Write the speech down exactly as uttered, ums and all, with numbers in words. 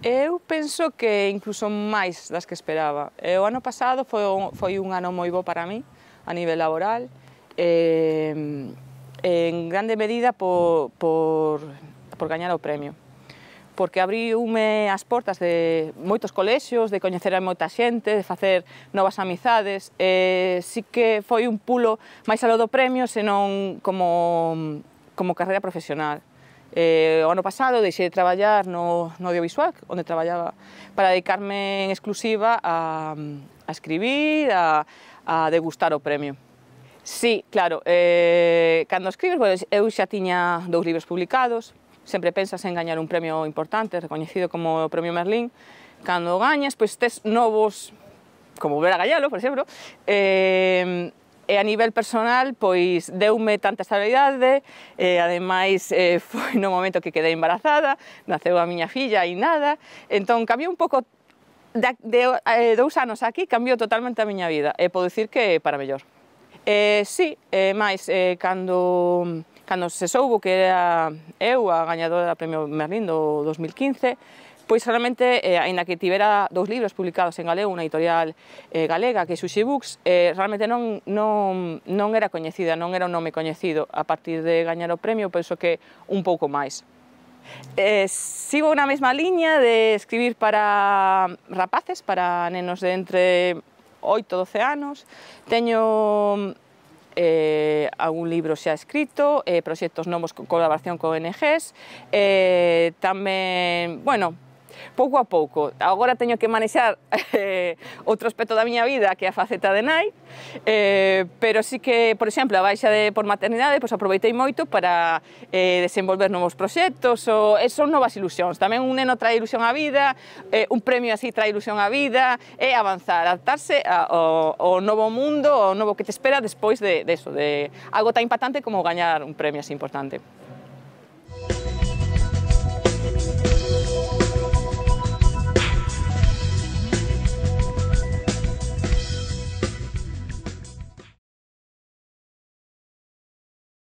Eu penso que incluso máis das que esperaba. O ano pasado foi un, foi un ano moi bo para mí, a nivel laboral, eh, en grande medida por, por, por gañar o premio, porque abriume as portas de moitos colexios, de coñecer a moita xente, de facer novas amizades, e sí que foi un pulo máis aló do premio, senón como, como carreira profesional. Eh, o ano pasado deixei de traballar no, no audiovisual, onde traballaba, para dedicarme en exclusiva a, a escribir, a, a degustar o premio. Sí, claro, eh, cando escribes, bueno, eu xa tiña dous libros publicados, sempre pensas en gañar un premio importante, recoñecido como o Premio Merlín. Cando gañas, pois tes novos, como volver a gañalo, por exemplo, eh, e a nivel personal, pois, deume tanta estabilidade, e ademais eh, foi no momento que quedei embarazada, naceu a miña filla e nada, entón cambiou un pouco, de, de eh, dous anos aquí, cambiou totalmente a miña vida, e podo dicir que para mellor. Eh, sí, eh, máis, eh, cando, cando se soubo que era eu a gañadora do Premio Merlín do dos mil quince, pois realmente, eh, aínda que tivera dous libros publicados en galego, unha editorial eh, galega, que é Sushi Books, eh, realmente non, non, non era coñecida, non era un nome coñecido. A partir de gañar o premio, penso que un pouco máis. Eh, sigo na mesma liña de escribir para rapaces, para nenos de entre oito e doce anos. Teño eh, algún libro xa escrito, eh, proxectos novos con colaboración con O N Ges, eh, tamén, bueno, pouco a pouco. Agora teño que manexar eh, outro aspecto da miña vida, que é a faceta de nai, eh, pero sí que, por exemplo, a baixa de, por maternidade, pois aproveitei moito para eh, desenvolver novos proxectos, ou, e son novas ilusións. Tamén un neno trae ilusión á vida, eh, un premio así trae ilusión á vida, e avanzar, adaptarse ao, ao novo mundo, ao novo que te espera despois de, de eso, de algo tan impactante como gañar un premio así importante.